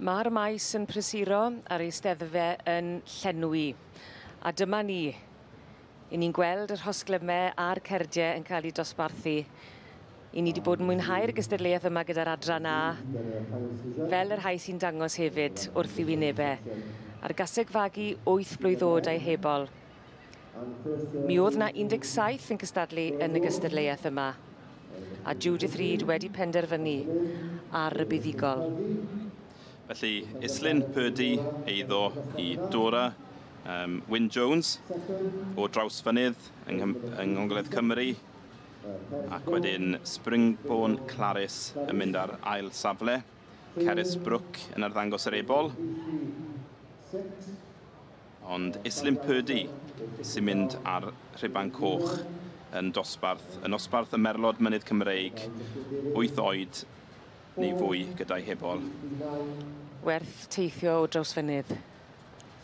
Mae'r maes yn prysuro a'r eisteddfe yn llenwi. A dyma ni. I ni'n gweld y rhosglymau a'r cerdiau yn cael eu dosbarthu. I ni wedi bod yn mwynhau'r gystadleuaeth yma gyda'r adran A, fel y rhai sy'n dangos hefyd wrth i wynebau. A'r gaseg fagu 8 blwydd oed a'i hebol. Mi oedd na 17 yn cystadlu yn y gystadleuaeth yma, a Judith Reid wedi penderfynu ar y buddugol. Felly, Islyn Purdy eiddo i Dora Wyn Jones o Drawsfynydd yng Ngogledd Cymru, ac wedyn Springbourne Claris yn mynd ar ail safle, Ceris Brook yn arddangos yr ebol. Ond Islyn Purdy sy'n mynd ar rhuban coch yn dosbarth, yn nosbarth y Merlod Mynydd Cymreig, 8 oed neu fwy gyda'i hebol. Werth teithio o Drawsfynydd.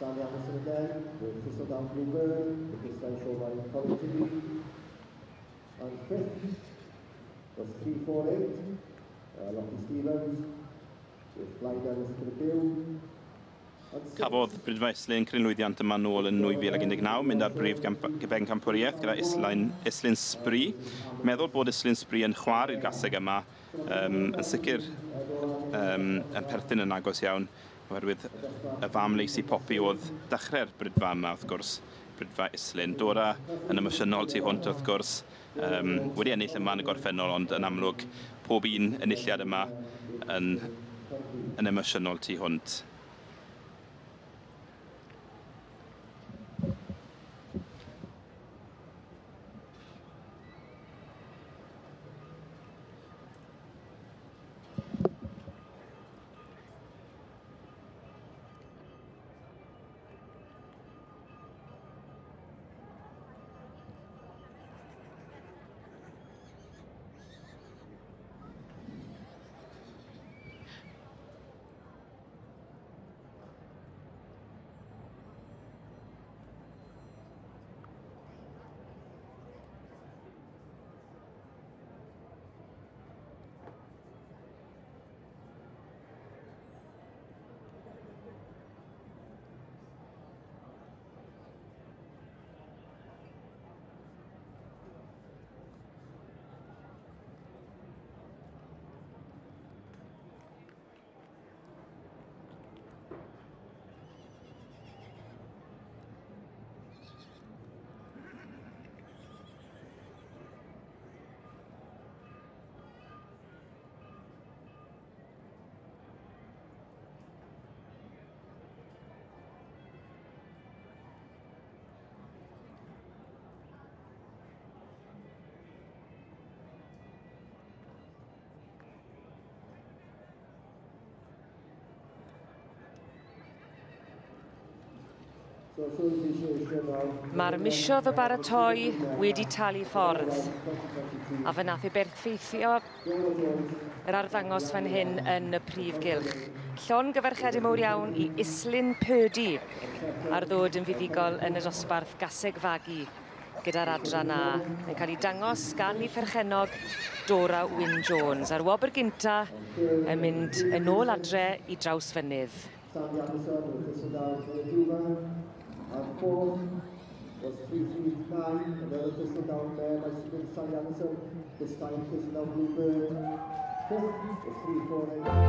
Sally Anderson again with Thistledown Bluebird, the this time shown by Colin Tibby. And fifth was 348, Lottie Stevens with Fly Dennis Tribune. Cafodd Brydfa Islyn cryn lwyddiant yma nôl yn 2019, mynd ar brif bencampwriaeth gyda Islyn Spree. Meddwl bod Islyn Spree yn chwar i'r gaseg yma, yn sicr yn perthyn yn agos iawn, oherwydd y fam Lacey Poppy oedd dechrau'r brydfa yma, wrth gwrs, Brydfa Islyn. Dora yn emosiynol tu hwnt, wrth gwrs, wedi ennill yma yn y gorffennol, ond yn amlwg pob un enilliad yma yn emosiynol tu hwnt. Mae'r misoedd o baratoi wedi talu ffordd, a fe nath ei berffeithio yr arddangos fan hyn yn y prif gylch. Llongyfarchiadau mawr iawn i Islyn Purdy ar ddod yn fuddugol yn y dosbarth gaseg fagu gyda'r adran A, yn cael ei dangos gan ei pherchennog Dora Wyn Jones, a'r wobr gynta yn mynd yn ôl adre i Drawsfynydd. Sandy Anderson with Thistledown Dwfa. And fourth was 339, another Thistledown mare by Sally Anderson, this time Thistledown Bluebird. Fifth was 348.